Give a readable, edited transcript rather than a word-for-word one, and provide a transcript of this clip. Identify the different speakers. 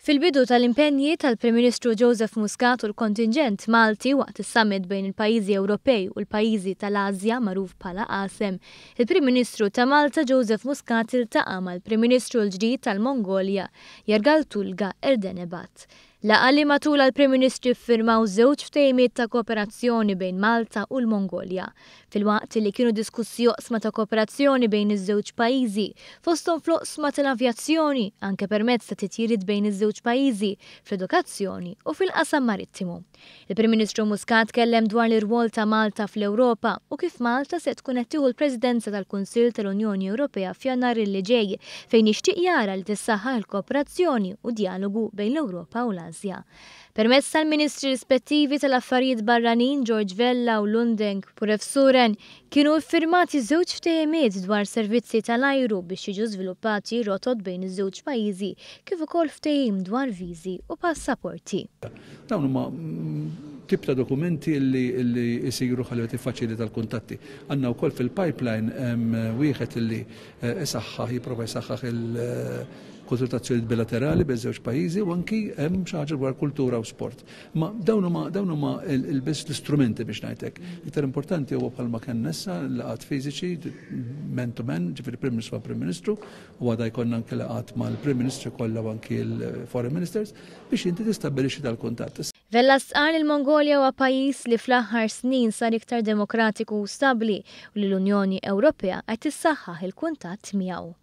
Speaker 1: Fil-bidu tal-impenji tal-Prim Ministru Joseph Muscat u l-kontinġent Malti waqt is-summit bejn il-pajjiżi Ewropej u l-pajjiżi tal-Asja magħruf bħala ASEM, il-Prim Ministru ta' Malta Joseph Muscat iltaqa' mal-Prim Ministru l-ġdid tal-Mongolja, Yargaltulga Erdenebat. Laqgħa li matulha l-Prim Ministri ffirmaw żewġ ftehimiet ta' kooperazzjoni bejn Malta u l-Mongolja, filwaqt li kienu diskussi oqsma ta' kooperazzjoni bejn iż-żewġ pajjiżi, fosthom fl-oqsma tal-avjazzjoni, anke permezz ta' titjiriet bejn iż-żewġ pajjiżi, fl-edukazzjoni u fil-qasam marittimu. Il-Prim Ministru Muscat tkellem dwar l-irwol ta' Malta fl-Ewropa u kif Malta se tkun qed tieħu l-Presidenza tal-Kunsill tal-Unjoni Ewropea f'Jannar li ġej, fejn jixtieq jara li tissaħħaħ il-kooperazzjoni u d-djalogu bejn l-Ewropa u l-Asja. Permezz tal-Ministri rispettivi tal-Affarijiet Barranin George Vella u Lundeng Purevsuren kienu iffirmati żewġ ftehimiet dwar servizzi tal-ajru biex jiġu żviluppati rotot bejn iż-żewġ pajjiżi kif ukoll ftehim dwar viżi u passaporti.
Speaker 2: Dawn huma tip ta' dokumenti li jsiru ħalli tiffaċilita l-kuntatti. Għandna wkoll fil-pipeline wieħed li isaħħaħ, jipprova jsaħħaħ il-konsultazzjonijiet bilaterali bejn żewġ pajjiżi u anki hemm xi ħaġa dwar kultura u sport. Ma dawn huma dawn huma biss l-istrumenti biex ngħidlek. Iktar importanti huwa bħalma kellna issa laqgħat fiżiċi man to man, ġifieri Prim Ministru ma' Prim Ministru, u għada jkollna anke laqgħat mal-Prim Ministri kollha u anki l-Foreign Ministers biex inti tistabbilixxi dal-kuntatt.
Speaker 1: Vella stqarr li l-Mongolja huwa pajjiż li fl-aħħar snin sar iktar demokratiku u stabbli u li l-Unjoni Ewropea qed tissaħħaħ il-kuntatt miegħu.